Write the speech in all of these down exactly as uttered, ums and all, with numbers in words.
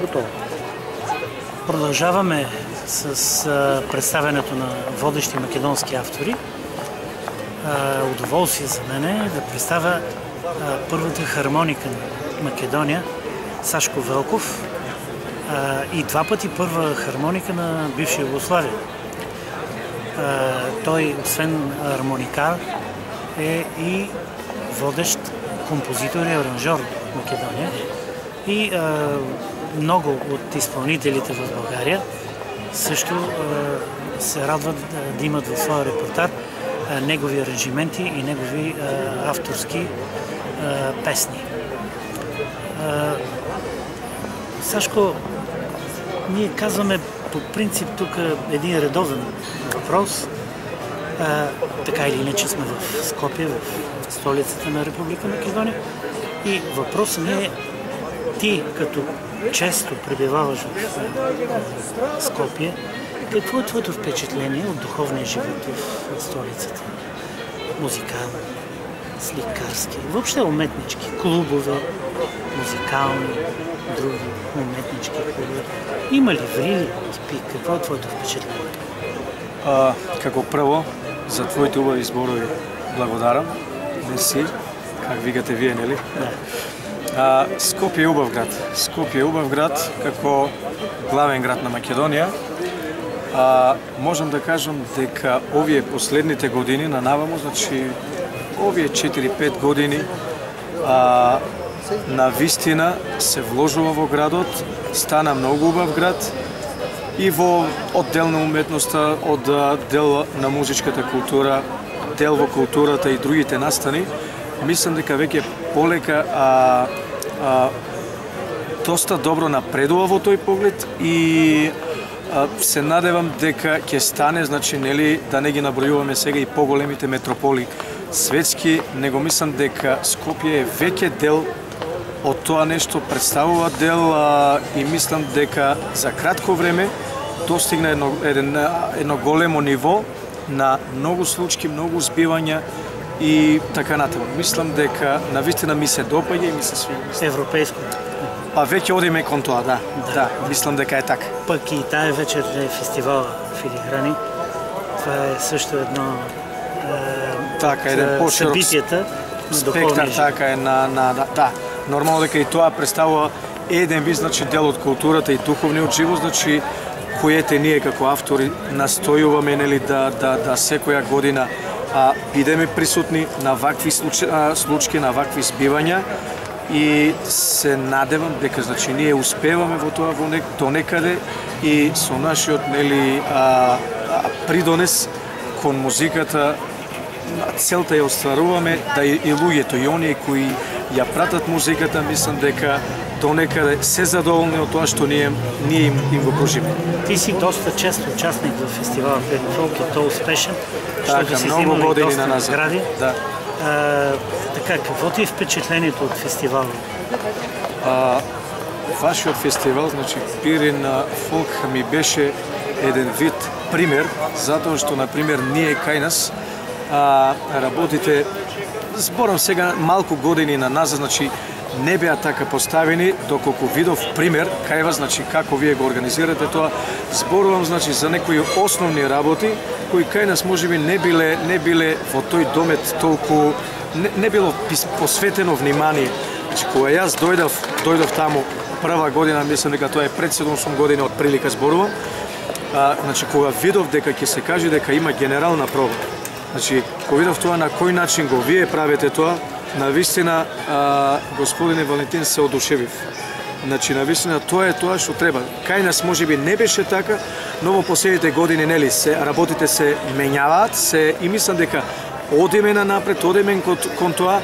Готово. Продължаваме с а, представянето на водещи македонски автори. А, удоволствие за мен е да представя а, първата хармоника на Македония, Сашко Велков, а, и два пъти първа хармоника на бивша Югославия. А, той, освен хармоникар, е и водещ композитор и аранжор в Македония. И а, много от изпълнителите в България също а, се радват да, да имат в своя репертуар а, негови аранжименти и негови а, авторски а, песни. А, Сашко, ние казваме по принцип тук един редовен въпрос. А, така или иначе сме в Скопие, в столицата на Република Македония. И въпросът ми е: ти, като често пребиваваш в Скопие, какво е твоето впечатление от духовния живот в столицата? Музикални, сликарски, въобще уметнички, клубове, музикални, други уметнички клубове. Има ли врили? Какво е твоето впечатление? А, како прво, за твоите убави зборови благодарам. Не си, как викате вие, нели? Да. А, Скопје е убав град. Скопје е убав град како главен град на Македонија. А, можам да кажам дека овие последните години на наваму, значи овие четири-пет години, а, на вистина се вложува во градот, стана многу убав град и во оддел на уметноста, од дел на музичката култура, дел во културата и другите настани. Мислам дека веќе полека а, а, доста добро напредува во тој поглед и а, се надевам дека ќе стане, значи, нели, да не ги набројуваме сега и поголемите метрополи светски, него мислам дека Скопје е веќе дел од тоа нешто, представува дел а, и мислам дека за кратко време достигна едно, едно, едно големо ниво на многу случаи, многу збивања и така натаму. Мислам дека навистина ми се допаѓа и ми се свиѓа. Европейско. Па веќе одиме кон тоа, да. Да, да, мислам дека е така. Пък и тая вечер е фестивал Филиграни. Това е също едно е, така, еден поширок събитията на духовния живот. Така е на, на, да, да. Нормално дека и тоа представува еден вид, значи, дел од културата и духовниот живот, значи, којете ние како автори настојуваме, нели, да, да, да секоја година а, бидеме присутни на вакви случаи, на вакви збивања и се надевам дека, значи, ние успеваме во тоа во нек, до некаде и со нашиот, нели, а, а, придонес кон музиката целта ја остваруваме, да и, и луѓето, и оние кои ја пратат музиката, мислам дека до некаде се задоволни од тоа што ние, ние им, им го пожиме. Ти си доста често участник во фестивала Фолк и то успешен, така, што си многу снимал и доста назад. награди. Да. А, така, какво ти е впечатлението од фестивала? А, вашиот фестивал, значи Пирин Фолк, ми беше еден вид пример, затоа што, например, ние кај нас а, работите, зборам сега малку години на назад, значи не беа така поставени, доколку видов пример кај вас, значи како вие го организирате тоа. Зборувам, значи, за некои основни работи кои кај нас можеби не биле не биле во тој домет толку не, не било посветено внимание. Значи, кога јас дојдов, дојдов таму прва година, мислам дека тоа е пред седумдесет години од прилика зборувам. А, значи, кога видов дека ќе се каже дека има генерална проба. Значи, кога видов тоа на кој начин го вие правите тоа, навистина, а, господине Валентин, се одушевив. Значи, навистина, тоа е тоа што треба. Кај нас можеби не беше така, но во последните години, нели, се работите се менјаваат, се и мислам дека одиме на напред, одиме кон, кон тоа,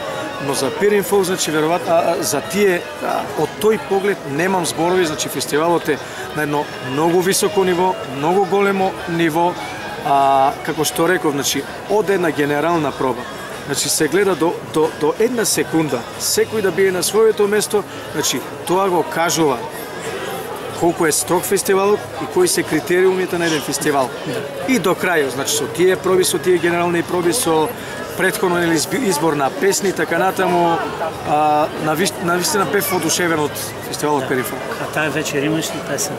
но за Пирин Фолк, значи, веројатно за тие а, од тој поглед немам зборови, значи фестивалот е на едно многу високо ниво, многу големо ниво, а, како што реков, значи, од една генерална проба. Значи, се гледа до, до, до една секунда, секој да биде на своето место, значи, тоа го кажува колку е строг фестивалот и кои се критериумите на еден фестивал. И до крајот, значи, со тие проби, со тие генерални проби, со претходно или избор на песни, така натаму, а, на вистина бев одушевен од фестивалот Перифолк. А таа вечер имаш ли песен?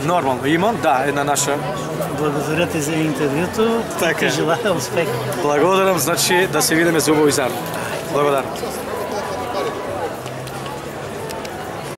Нормално имам, да, една наша. Благодаря ти за интервјуто. Така. Ти желая успех. Благодарам, значи да се видиме за убави заедно. Благодарам.